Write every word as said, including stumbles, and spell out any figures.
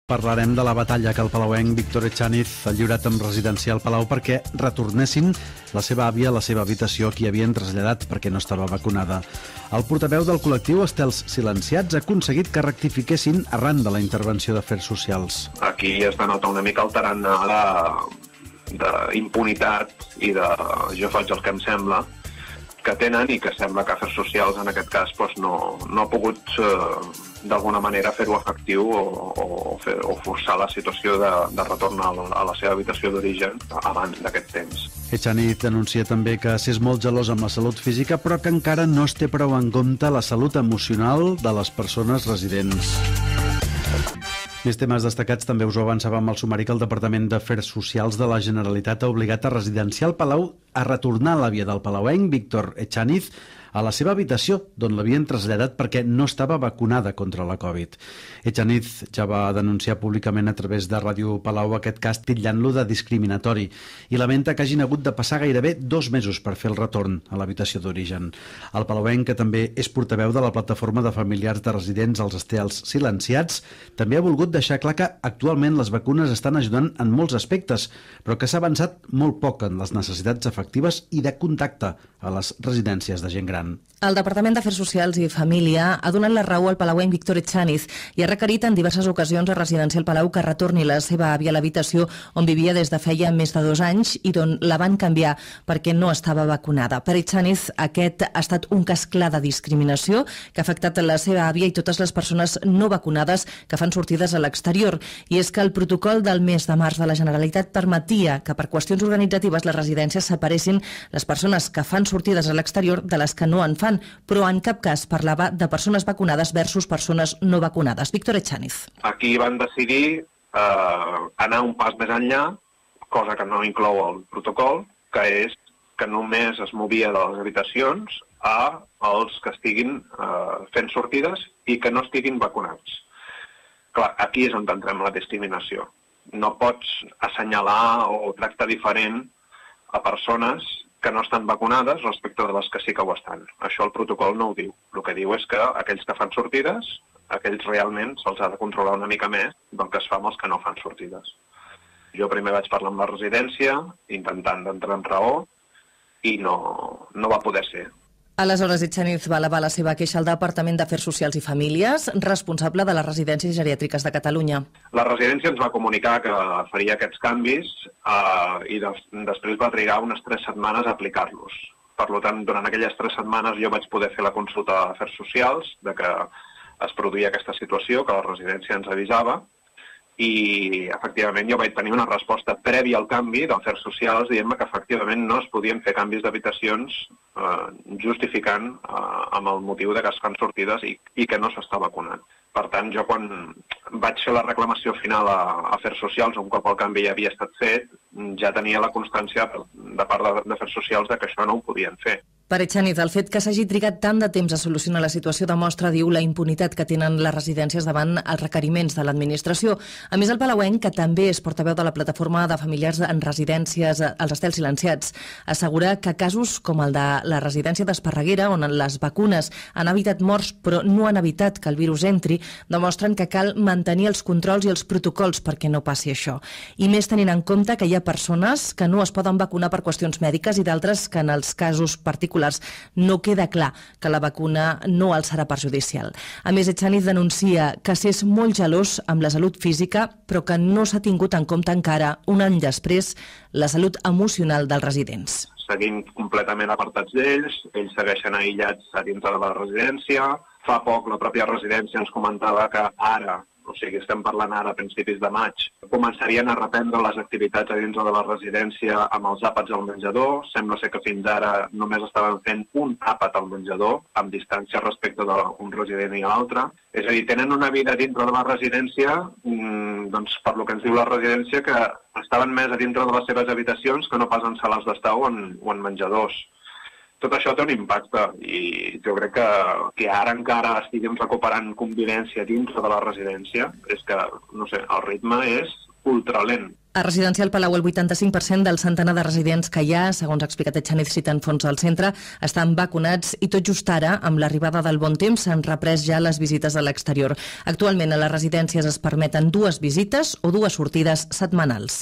Parlarem de la batalla que el palauenc Víctor Echaniz ha lliurat amb Residencial Palau perquè retornessin la seva àvia a la seva habitació, que hi havien traslladat perquè no estava vacunada. El portaveu del col·lectiu Estels Silenciats ha aconseguit que rectifiquessin arran de la intervenció d'Afers Socials. Aquí es denota una mica el tarannà d'impunitat i de jo faig el que em sembla que tenen, i que sembla que Afers Socials en aquest cas doncs, no, no ha pogut eh, d'alguna manera fer-ho efectiu o, o, fer, o forçar la situació de, de retorn a la, a la seva habitació d'origen abans d'aquest temps. Echaniz denuncia també que s'és molt gelós amb la salut física, però que encara no es té prou en compte la salut emocional de les persones residents. Més temes destacats també us ho avançàvem al sumari que el Departament d'Afers Socials de la Generalitat ha obligat a Residencial Palau a retornar l'àvia del palauenc, Víctor Echaniz, a la seva habitació, d'on l'havien traslladat perquè no estava vacunada contra la Covid. Echaniz ja va denunciar públicament a través de Ràdio Palau aquest cas, titllant-lo de discriminatori, i lamenta que hagin hagut de passar gairebé dos mesos per fer el retorn a l'habitació d'origen. El palauenc, que també és portaveu de la plataforma de familiars de residents als Estels Silenciats, també ha volgut deixar clar que actualment les vacunes estan ajudant en molts aspectes, però que s'ha avançat molt poc en les necessitats efectives i de contacte a les residències de gent gran. El Departament d'Afers Socials i Família ha donat la raó al palauenc Víctor Echaniz i ha requerit en diverses ocasions a Residencial Palau que retorni la seva àvia a l'habitació on vivia des de feia més de dos anys i d'on la van canviar perquè no estava vacunada. Per Echaniz, aquest ha estat un cas clar de discriminació que ha afectat la seva àvia i totes les persones no vacunades que fan sortides a l'exterior. I és que el protocol del mes de març de la Generalitat permetia que per qüestions organitzatives les residències separessin les persones que fan sortides a l'exterior de les que no en fan, però en cap cas parlava de persones vacunades versus persones no vacunades. Víctor Echaniz. Aquí van decidir eh, anar un pas més enllà, cosa que no inclou el protocol, que és que només es movia de les habitacions a els que estiguin eh, fent sortides i que no estiguin vacunats. Clar, aquí és on entrem la discriminació. No pots assenyalar o tractar diferent a persones que no estan vacunades respecte de les que sí que ho estan. Això el protocol no ho diu. El que diu és que aquells que fan sortides, aquells realment se'ls ha de controlar una mica més del que es fa amb els que no fan sortides. Jo primer vaig parlar amb la residència, intentant d'entrar en raó, i no, no va poder ser. Aleshores, Echaniz va elevar la seva queixa al Departament d'Afers Socials i Famílies, responsable de les residències geriàtriques de Catalunya. La residència ens va comunicar que faria aquests canvis eh, i de, després va trigar unes tres setmanes a aplicar-los. Per tant, durant aquelles tres setmanes jo vaig poder fer la consulta d'Afers Socials de que es produïa aquesta situació, que la residència ens avisava, i efectivament jo vaig tenir una resposta prèvia al canvi d'Afers Socials dient-me que efectivament no es podien fer canvis d'habitacions eh, justificant eh, amb el motiu de que es fan sortides i, i que no s'està vacunant. Per tant, jo quan vaig fer la reclamació final a Afers Socials, un cop el canvi ja havia estat fet, ja tenia la constància de part d'Afers Socials de que això no ho podien fer. Per Echaniz, el fet que s'hagi trigat tant de temps a solucionar la situació demostra, diu, la impunitat que tenen les residències davant els requeriments de l'administració. A més, el palauenc, que també és portaveu de la plataforma de familiars en residències als Estels Silenciats, assegura que casos com el de la residència d'Esparreguera, on les vacunes han evitat morts però no han evitat que el virus entri, demostren que cal mantenir els controls i els protocols perquè no passi això. I més tenint en compte que hi ha persones que no es poden vacunar per qüestions mèdiques i d'altres que en els casos particulars no queda clar que la vacuna no els serà perjudicial. A més, Echaniz denuncia que s'és molt gelós amb la salut física, però que no s'ha tingut en compte encara, un any després, la salut emocional dels residents. Seguim completament apartats d'ells, ells segueixen aïllats a dintre de la residència. Fa poc la pròpia residència ens comentava que ara, o sigui, estem parlant ara a principis de maig, començarien a reprendre les activitats a dins de la residència amb els àpats al menjador. Sembla ser que fins ara només estaven fent un àpat al menjador, amb distància respecte d'un resident i l'altre. És a dir, tenen una vida dintre de la residència, doncs per lo que ens diu la residència, que estaven més a dintre de les seves habitacions que no pas en sales d'estar o en, o en menjadors. Tot això té un impacte i jo crec que, que ara encara estiguem recuperant convivència dintre de la residència és que, no sé, el ritme és ultralent. A Residencial Palau, el vuitanta-cinc per cent del centenar de residents que hi ha, segons ha explicat Etxanez citant fons al centre, estan vacunats i tot just ara, amb l'arribada del bon temps, s'han reprès ja les visites a l'exterior. Actualment a les residències es permeten dues visites o dues sortides setmanals.